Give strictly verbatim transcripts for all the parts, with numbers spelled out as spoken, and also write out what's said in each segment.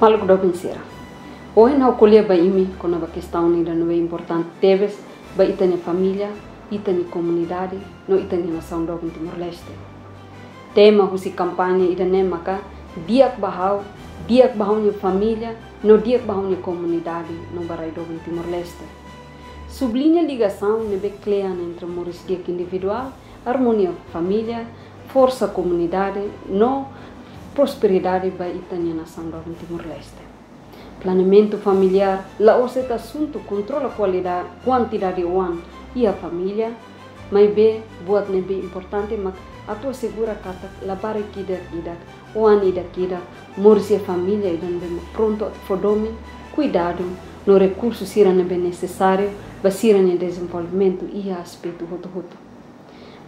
Maluk doben sira, ohin ha'u ko'alia ba imi kona-ba kestaun ida ne'ebé importante tebes ba ita-nia família, ita-nia komunidade, no ita-nia nasaun doben Timor-Leste. Tema husi kampaña ida-ne'e maka di'ak ba ha'u, di'ak ba ha'u-nia família, no di'ak ba ha'u-nia komunidade no ba rai doben Timor-Leste. Subliña ligasaun ne'ebé kle'an entre moris di'ak individuál, armonia família, forsa komunidade, no prosperidade ba ita-nia nasaun doben Timor-Leste. Planeamentu familiár la'ós de'it asuntu kontrola kualida-, kuantidade oan iha família, maibé buat ne'ebé importante mak atu asegura katak labarik ida-idak, oan ida-idak, moris iha família ida ne'ebé mak prontu atu fó domin, kuidadu, no rekursu sira ne'ebé nesesáriu ba sira-nia dezenvolvimentu iha aspetu hotu-hotu.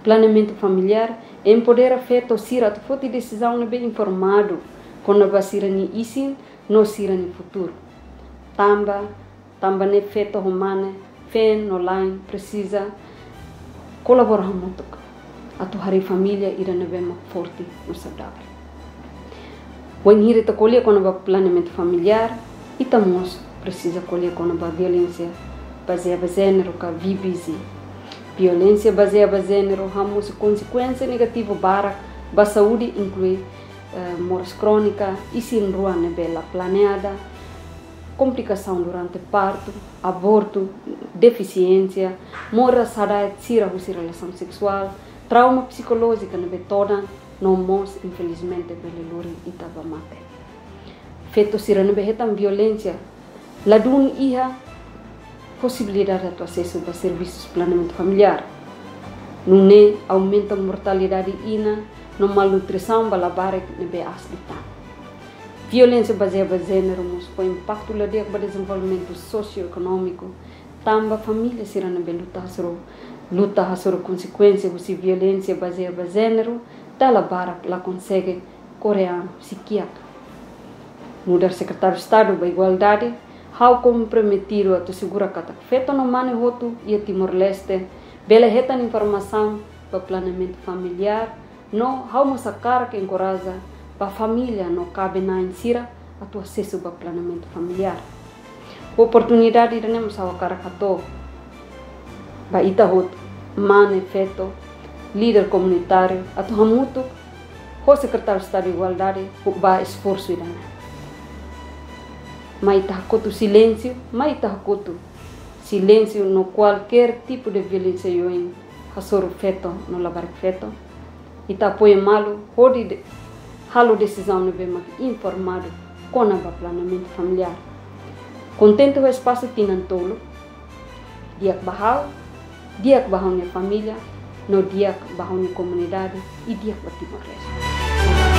Planeamentu familiár empodera feto sira atu foti desizaun ne'ebé informadu kona-ba sira-nia isin no sira-nia futuru. Tanba, tanba ne'e feto ho mane, feen no la'en presiza kolabora hamutuk atu harii família ida ne'ebé mak forte no saudavel. Wainhira ita ko'alia kona-ba planeamentu familiár, ita mós presiza ko'alia kona-ba violénsia bazeia ba jéneru ka V B G. Violénsia bazeia ba jéneru hamosu konsekuénsia negativu barak ba saúde, inklui, eh, moras krónika, isin-rua ne'ebé la planeada, komplikasaun durante partu, abortu, defisiénsia, moras hada'et sira husi relasaun seksuál, trauma psikolójika ne'ebé todan, no mós, infelizmente, bele lori ita ba mate. Feto sira ne'ebé hetan violénsia ladún iha posibilidade atu asesu ba servisus planeamentu familiár. Nune'e aumenta mortalidade inan no malnutrisaun ba labarik ne'ebé aas liután. Violénsia bazeia ba jéneru mós fó impaktu la di'ak ba dezenvolvimentu sosioekonómiku, tanba família sira ne'ebé luta hasoru, luta hasoru konsekuénsia husi violénsia bazeia ba jéneru, dala barak la konsege kore an husi kiak. Nu'udar Sekretáriu Estadu ba Igualdade, ha'u komprometidu atu asegura katak feto no mane hotu iha Timor-Leste bele hetan informasaun ba planeamentu familiár, no ha'u mós hakarak enkoraja ba família no kaben-na'in sira atu asesu ba planeamentu familiár. Oportunidade ida-ne'e mós ha'u hakarak hato'o ba ita hotu, mane, feto, líder komunitáriu, atu hamutuk ho Sekretáriu Estadu Igualdade, ho ba esforsu ida-ne'e. Mai ita hakotu silénsiu, mai ita hakotu silénsiu no kualkér tipu de violénsia oioin hasoru feto no labarik feto. Ita apoia malu hodi de-, halo desizaun ne'ebé mak informadu kona-ba planeamentu familiár. Kontente ho espasu tinan tolu, di'ak ba ha'u, di'ak ba ha'u-nia família, no di'ak ba ha'u-nia komunidade, i di'ak ba Timor-Leste.